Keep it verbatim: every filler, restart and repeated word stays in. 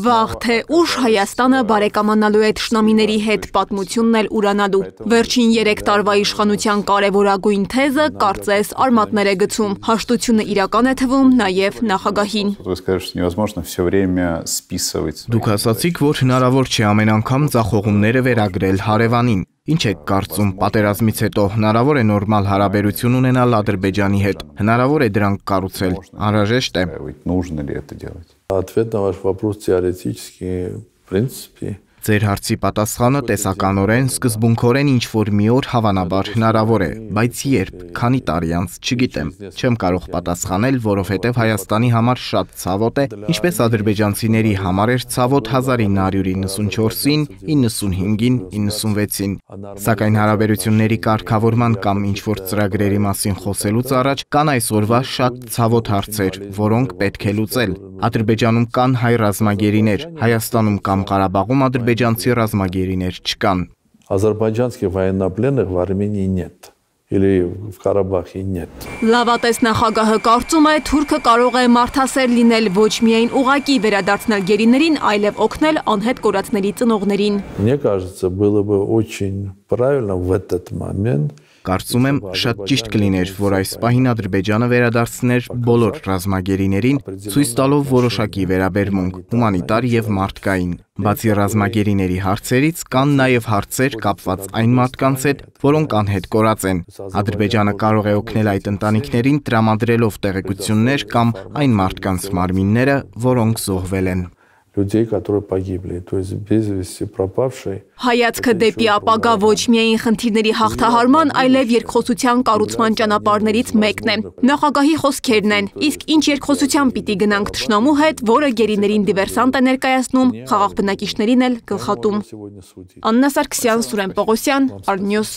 Վաղ թե ուշ Հայաստանը բարեկամանալու է թշնամիների հետ, պատմությունն էլ ուրանալու։ Վերջին երեք տարվա իշխանության կարևորագույն թեզը կարծես արմատներ է գցում։ Հաշտությունը իրական է թվում նաև նախագահին։ Դուք ասացիք, որ հնարավոր չէ ամեն անգամ ձախողումները վերագրել հարևանին։ Ինչ եք կարծում, պատերազմից հետո հնարավոր է նորմալ հարաբերություն ունենալ Ադրբեջանի հետ, հնարավոր է դրանք կառուցել, անհրաժեշտ է։ Ответ на ваш вопрос теоретически, в принципе. Ձեր հարցի պատասխանը տեսականորեն, սկզբունքորեն ինչ-որ մի օր հավանաբար հնարավոր է, բայց երբ, քանի տարի անց, չգիտեմ, չեմ կարող պատասխանել, որովհետև Հայաստանի համար շատ ցավոտ է, ինչպես ադրբեջանցիների համար էր ցավոտ հազար ինը հարյուր իննսունչորսին, իննսունհինգին, իննսունվեցին, սակայն հարաբերությունների կարգավորման կամ ինչ-որ ծրագրերի մասին խոսելուց առաջ կան այսօրվա շատ ցավոտ հարցեր, որոնք պետք է լուծել։ Ադրբեջանում կան հայ ռազմագերիներ, Հայաստանում կամ Ղարաբաղում ադրբեջանցի ռազմագերիներ չկան։ Азербайджанских военнопленных в Армении нет. Или в Карабахе нет. Լավատես նախագահը կարծում է, Թուրքը կարող է մարդասեր լինել ոչ միայն ուղղակի վերադարձնել գերիներին, այլև օգնել անհետ կորածների ծնողներին։ Мне кажется, было бы очень правильно в этот момент. Կարծում եմ, շատ ճիշտ կլիներ, որ այս պահին Ադրբեջանը վերադարձներ բոլոր ռազմագերիներին, ցույց տալով որոշակի վերաբերմունք, հումանիտար եւ մարդկային։ Բացի ռազմագերիների հարցերից, կան նաև հարցեր կապված այն մարդկանց հետ, որոնք անհետ կորած են։ Ադրբեջանը կարող է օգնել այդ ընտանիքներին տրամադրելով տեղեկություններ կամ այն մարդկանց մարմինները, որոնք զոհվել են։ Людей, которые погибли, то есть без вести пропавшие. Հայացքը դեպի ապագա ոչ միայն խնդիրների հաղթահարման, այլև երկխոսության կառուցման ճանապարհներից մեկն է։ Նախագահի խոսքերն են, իսկ ինչ երկխոսության պիտի գնանք թշնամու հետ, որը գերիներին դիվերսանտ է ներկայացնում, խաղաղ բնակիչներին էլ գլխատում։ Աննա Սարգսյան, Սուրեն Պողոսյան, Ալնյուս։